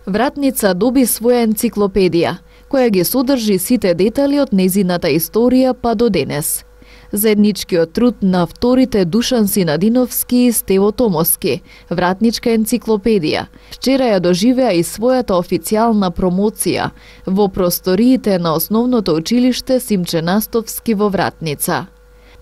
Вратница доби своја енциклопедија, која ги содржи сите детали од нејзината историја па до денес. Заедничкиот труд на авторите Душан Синадиновски и Стево Томовски, Вратничка енциклопедија, вчера ја доживеа и својата официјална промоција во просториите на основното училиште Симче Настовски во Вратница.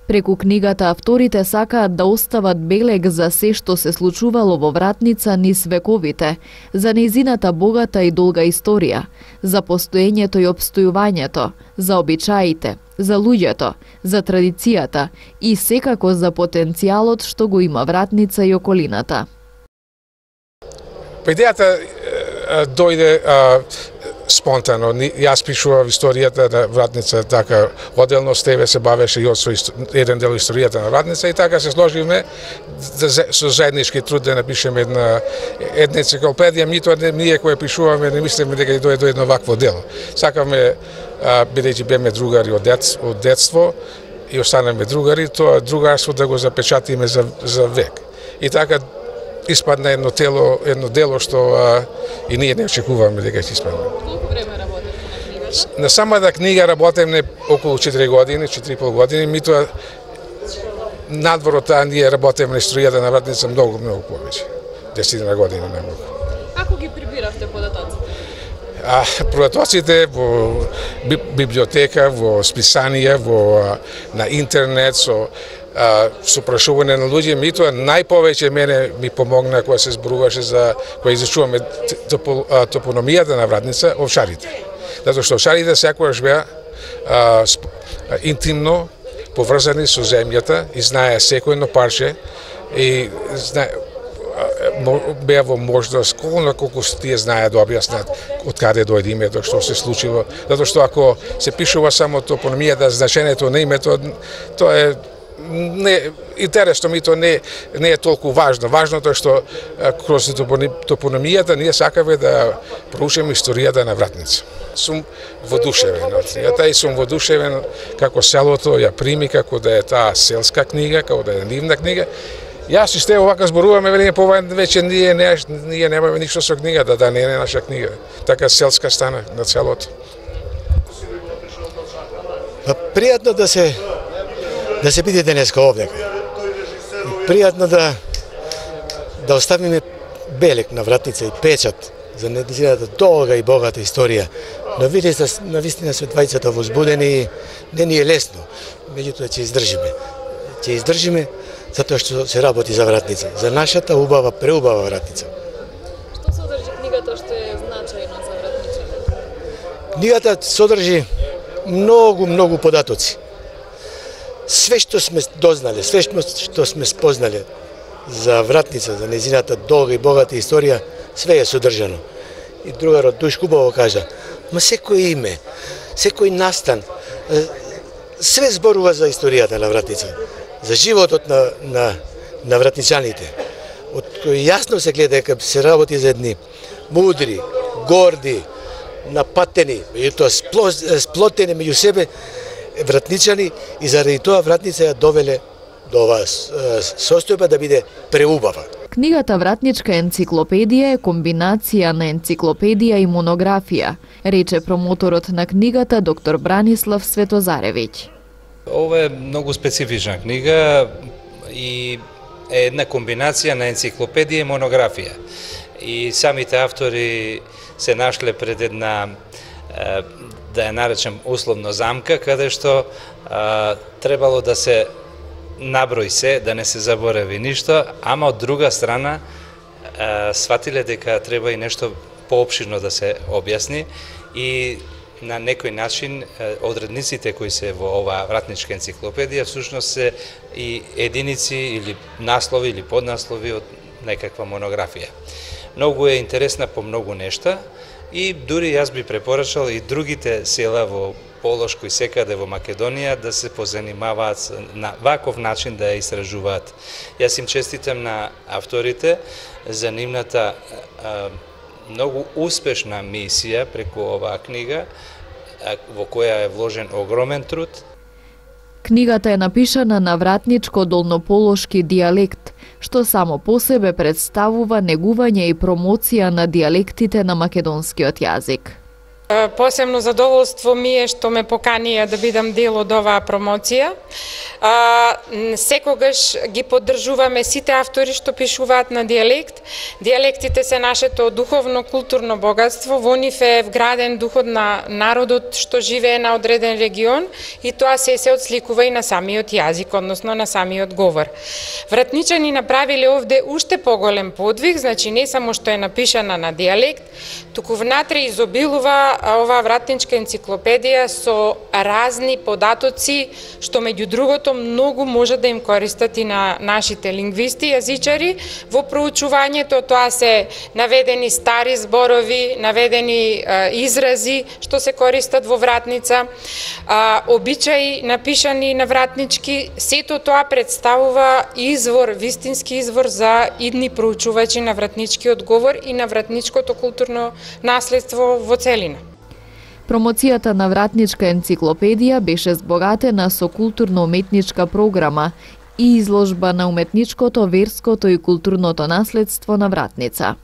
Преку книгата авторите сакаат да остават белег за се што се случувало во Вратница низ вековите, за нејзината богата и долга историја, за постоењето и обстојувањето, за обичаите, за луѓето, за традицијата и секако за потенцијалот што го има Вратница и околината. Идејата дојде спонтано. Јас пишував историјата на Вратница, така одделно Стеве се бавеше и од еден дел историјата на Вратница и така се сложивме со заеднички труд да напишеме една енциклопедија. Митоа ние кои пишуваме не мислиме дека ќе дојде до едно вакво дело. Сакавме, бидејќи беме другари од детство и останеме другари, тоа другарство да го запечатиме за век. И така испадна едно дело што и ние не очекуваме дека ќе испадне. Колку време работите на книгата? На самата книга работиме околу 4 години, 4,5 години, митоа надвор од таа ние работиме на историјата на Вратница многу повеќе. 10 години најмногу. Како ги прибиравте податоците? Податоците во библиотека, во списанија, на интернет, со прашување на луѓе, митоа најповеќе мене ми помогна кога се зборуваше кога изучуваме топономијата на Вратница, овчарите. Затоа што овчарите секогаш беа интимно поврзани со земјата и знае секој едно парче и беа во можност колку тие знаеа да објаснат од каде дојде името, што се случило. Затоа што ако се пишува само топономијата, значењето на името, тоа е интересно, мито не е толку важно. Важното е што кроз топономијата ние сакаме да проучиме историјата на Вратница. Сум воодушевен од книгата и сум воодушевен како селото ја прими, како да е таа селска книга, како да е нивна книга. Јас и Стево вака зборуваме, велиме повеќе ние немаме ништо со книгата, да не е наша книга. Така селска стана на селото. Пријатно да се биде денеска овде. Пријатно да оставиме белег на Вратница и печат за нејзината долга и богата историја. Но навистина се двајцата возбудени и не ни е лесно. Меѓутоа ќе издржиме. Ќе издржиме затоа што се работи за Вратница, за нашата убава, преубава Вратница. Што содржи книгата што е значајно за вратничаните? Книгата содржи многу податоци. Све што сме дознале, све што сме спознале за Вратница, за нејзината долга и богата историја, све е содржано. И другарот Душ Кубово кажа, ма секој име, секој настан, све зборува за историјата на Вратница, за животот на вратничаните, од кој јасно се гледа дека се работи за едни мудри, горди, напатени, меѓутоа сплотени меѓу себе вратничани и заради тоа Вратница ја довеле до оваа состојба да биде преубава. Книгата Вратничка енциклопедија е комбинација на енциклопедија и монографија, рече промоторот на книгата доктор Бранислав Светозаревиќ. Ова е многу специфична книга и е една комбинација на енциклопедија и монографија. И самите автори се нашле пред една, да ја наречем условно замка, каде што требало да се наброи се, да не се заборави ништо, ама од друга страна сватиле дека треба и нешто поопширно да се објасни и на некој начин одредниците кои се во оваа Вратничка енциклопедија всушност се и единици или наслови или поднаслови од некаква монографија. Многу е интересна по многу нешта и дури јас би препорачал и другите села во Полошко и секаде во Македонија да се позанимаваат на ваков начин да ја истражуваат. Јас им честитам на авторите за нивната многу успешна мисија преку оваа книга во која е вложен огромен труд. Книгата е напишана на вратничко-долнополошки дијалект, што само по себе представува негување и промоција на дијалектите на македонскиот јазик. Посебно задоволство ми е што ме поканија да бидам дел од оваа промоција. Секогаш ги поддржуваме сите автори што пишуваат на дијалект. Дијалектите се нашето духовно културно богатство, во нив е вграден духот на народот што живее на одреден регион и тоа се отсликува и на самиот јазик, односно на самиот говор. Вратничани направиле овде уште поголем подвиг, значи не само што е напишана на дијалект, туку внатре изобилува оваа вратничка енциклопедија со разни податоци што меѓу другото многу може да им користат и на нашите лингвисти, јазичари. Во проучувањето тоа се наведени стари зборови, наведени изрази што се користат во вратница, обичаи напишани на вратнички. Сето тоа представува извор, вистински извор за идни проучувачи на вратничкиот говор и на вратничкото културно наследство во целина. Промоцијата на вратничка енциклопедија беше збогатена со културно-уметничка програма и изложба на уметничкото, верското и културното наследство на Вратница.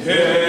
Yeah.